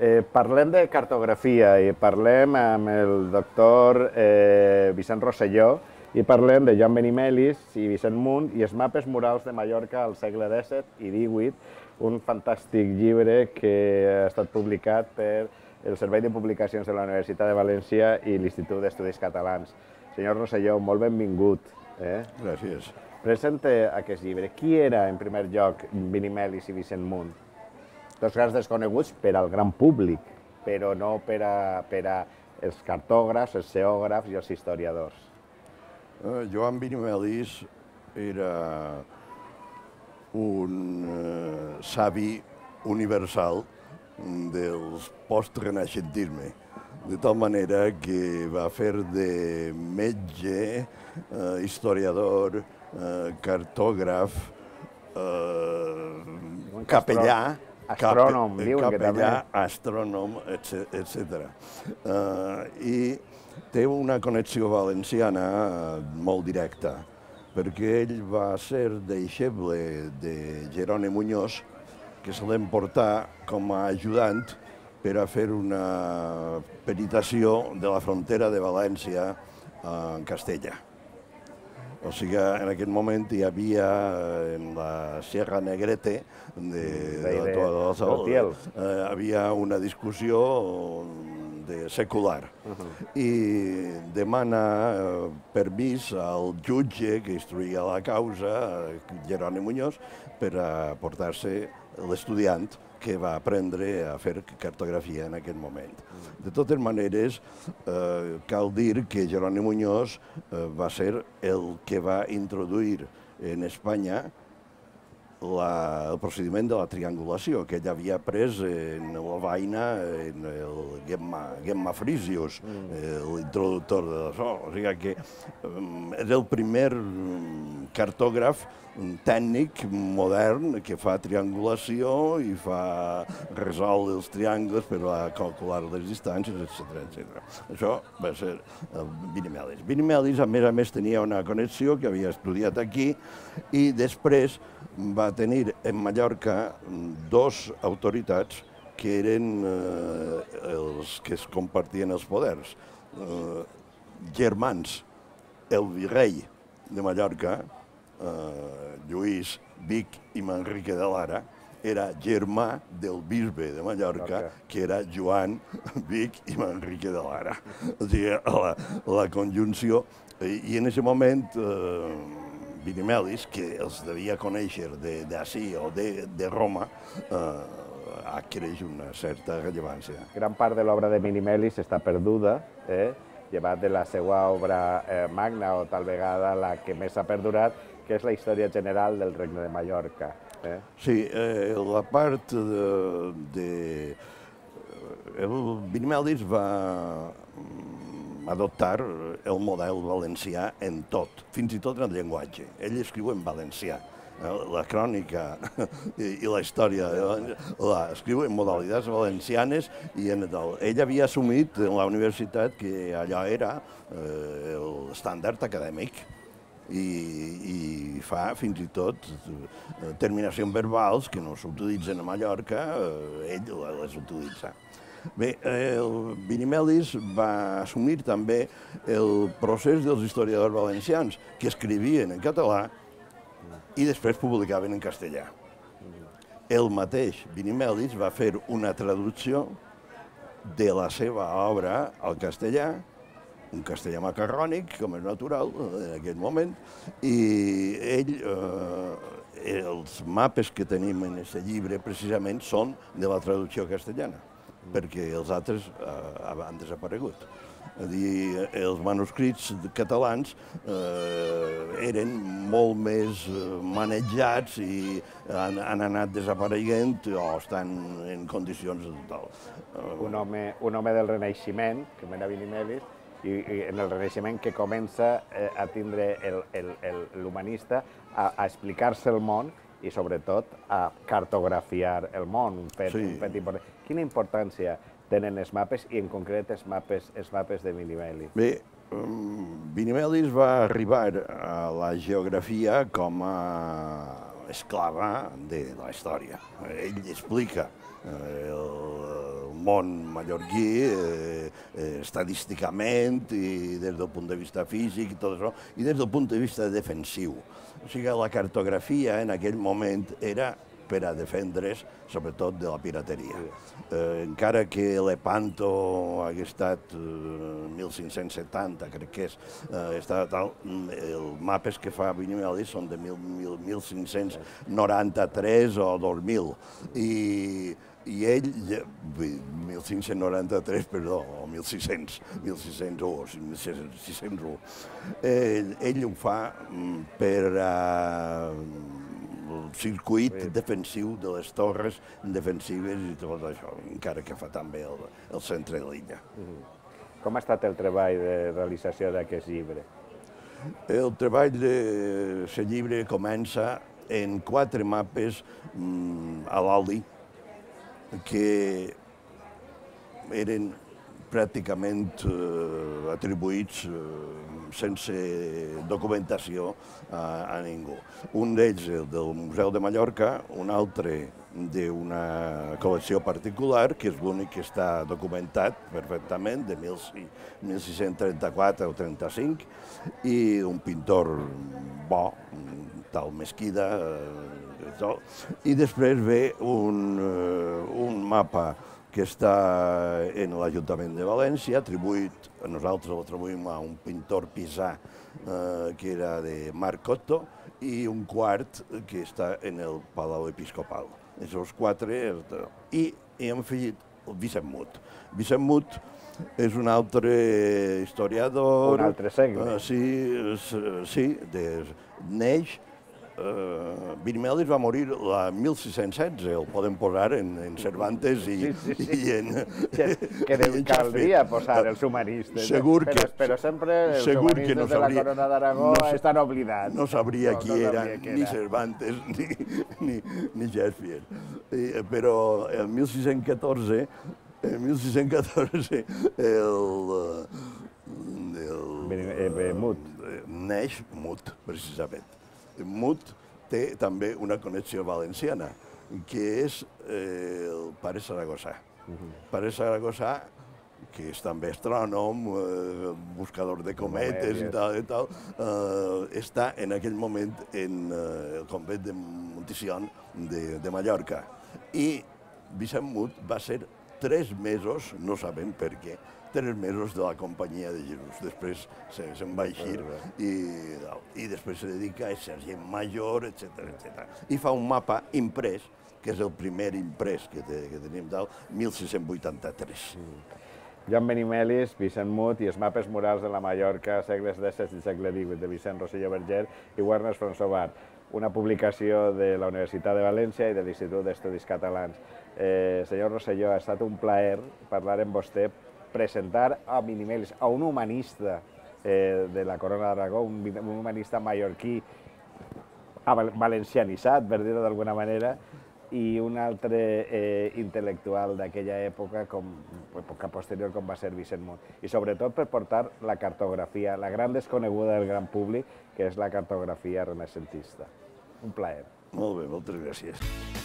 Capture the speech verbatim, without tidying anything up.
Eh, parlem de cartografia i parlem amb el doctor eh, Vicent Rosselló i parlem de Joan Benimelis i Vicent Munt i els mapes murals de Mallorca al segle disset i divuit, un fantàstic llibre que ha estat publicat per el Servei de Publicacions de la Universitat de València i l'Institut d'Estudis Catalans. Senyor Rosselló, molt benvingut. Eh? Gràcies. Presenta aquest llibre. Qui era, en primer lloc, Benimelis i Vicent Munt? Dos grans desconeguts per al gran públic, però no per a, per a els cartògrafs, els geògrafs i els historiadors. Uh, Joan Benimelis era un uh, savi universal del post-renaixentisme, de tal manera que va fer de metge, uh, historiador, uh, cartògraf, uh, capellà, Astrònom, diuen que també. Capellà, astrònom, etcètera. Uh, I té una connexió valenciana molt directa, perquè ell va ser deixeble de Jeroni Muñoz, que se l'emportà com a ajudant per a fer una peritació de la frontera de València en Castella. O sigui, en aquest moment hi havia en la Sierra Negrete de, de la Toa de la Sal, eh, havia una discussió de secular i demana eh, permís al jutge que instruïa la causa, Jeroni Muñoz, per a portar-se l'estudiant que va aprendre a fer cartografia en aquest moment. De totes maneres, eh, cal dir que Jeroni Muñoz eh, va ser el que va introduir en Espanya la, el procediment de la triangulació, que ell havia pres en Lovaina, en el Gemma, Gemma Frisius, eh, l'introductor de l'això. O sigui que eh, és el primer cartògraf tècnic modern que fa triangulació i fa resoldre els triangles per a calcular les distàncies, etcètera, etcètera. Això va ser Benimelis. Benimelis, a més a més, tenia una connexió que havia estudiat aquí i després va tenir en Mallorca dos autoritats que eren eh, els que es compartien els poders. Eh, germans, el virrei de Mallorca, Uh, Lluís Vic i Manrique de Lara, era germà del bisbe de Mallorca, okay, que era Joan Vic i Manrique de Lara. O sigui, la, la conjunció. I, i en aquest moment, uh, Benimelis, que els devia conèixer d'ací o de, de Roma, uh, adquireix una certa rellevància. Gran part de l'obra de Benimelis està perduda, eh? llevat de la seva obra eh, magna o tal vegada la que més ha perdurat, que és la història general del Regne de Mallorca. Eh? Sí, eh, la part de... de el Benimelis va adoptar el model valencià en tot, fins i tot en el llenguatge. Ell escriu en valencià. La crònica i la història la escriu en modalitats valencianes i en el, ell havia assumit en la universitat que allò era eh, l'estàndard acadèmic i, i fa fins i tot terminacions verbals que no s'utilitzen a Mallorca, eh, ell les utilitza. Bé, el Benimelis va assumir també el procés dels historiadors valencians que escrivien en català i després publicaven en castellà. El mateix Benimelis va fer una traducció de la seva obra al castellà, un castellà macarrònic, com és natural en aquest moment, i ell, eh, els mapes que tenim en aquest llibre precisament són de la traducció castellana, perquè els altres eh, han desaparegut. És a dir, els manuscrits catalans eh, eren molt més manejats i han, han anat desapareguent o estan en condicions tal. Un home, un home del Renaixement, com era Benimelis, i, i en el Renaixement que comença eh, a tindre l'humanista a, a explicar-se el món i sobretot a cartografiar el món, un fet, sí. un fet important. Quina importància tenen els mapes i en concret els mapes, els mapes de Benimelis? Bé, Benimelis va arribar a la geografia com a esclava de la història. Ell explica el món mallorquí, eh, eh, estadísticament i des del punt de vista físic i tot això, i des del punt de vista defensiu. O sigui, la cartografia en aquell moment era per a defendre's, sobretot, de la pirateria. Eh, encara que Lepanto hagués estat eh, mil cinc-cents setanta, crec que és, eh, està tal, els mapes que fa Benimeli són de mil cinc-cents noranta-tres o dos mil. I, i ell, mil cinc-cents noranta-tres, perdó, o mil sis-cents, mil sis-cents u, mil sis-cents u, ell, ell ho fa per uh, el circuit defensiu de les torres defensives i tot això, encara que fa també el, el centre de l'illa. Com ha estat el treball de realització d'aquest llibre? El treball de aquest llibre comença en quatre mapes mm, a l'oli que eren pràcticament eh, atribuïts eh, sense documentació a, a ningú. Un d'ells el del Museu de Mallorca, un altre d'una col·lecció particular, que és l'únic que està documentat perfectament, de mil sis-cents trenta-quatre o trenta-cinc, i un pintor bo, tal Mesquida, eh, tot. I després ve un, eh, un mapa que està en l'Ajuntament de València, atribuït, nosaltres l'atribuïm a un pintor pisà eh, que era de Marc Cotto, i un quart que està en el Palau Episcopal. Aquests quatre, i hem afegit el Vicent Mut. Vicent Mut és un altre historiador... Un altre segle. Uh, sí, sí, de, neix... Uh, Benimeli va morir el mil sis-cents setze, el podem posar en, en Cervantes i, sí, sí, sí. i en... Que, que en caldria posar els humanistes, segur però, que, però sempre els segur humanistes que no de la sabria, Corona d'Aragó no, estan oblidats. No sabria no, qui no era, sabria ni era Cervantes ni, ni, ni Shakespeare. I, però el mil sis-cents catorze, el mil sis-cents catorze el, el, el Mut. neix Mut, precisament. Mut té també una connexió valenciana, que és eh, el pare Saragossà. Uh -huh. Pare Saragossà, que és també astrònom, eh, buscador de cometes i tal, i tal eh, està en aquell moment en eh, el convent de Monticion de, de Mallorca. I Vicent Mut va ser tres mesos, no sabem per què, tres mesos de la companyia de Jesús. Després se'n va eixir i, i després se dedica a sergent major, etcètera, etcètera. I fa un mapa imprès, que és el primer imprès que, te, que tenim del mil sis-cents vuitanta-tres. Mm. Joan Benimelis, Vicent Mut i els mapes murals de la Mallorca, segles disset i segle divuit, de Vicent Rosselló Berger i Warner François, una publicació de la Universitat de València i de l'Institut d'Estudis Catalans. Eh, senyor Rosselló, ha estat un plaer parlar amb vostè, presentar a Benimelis, a un humanista eh, de la Corona d'Aragó, un, un humanista mallorquí valencianitzat, per dir-ho d'alguna manera, i un altre eh, intel·lectual d'aquella època, com, època posterior, com va ser Vicent Mut. I sobretot per portar la cartografia, la gran desconeguda del gran públic, que és la cartografia renaixentista. Un plaer. Molt bé, moltes gràcies.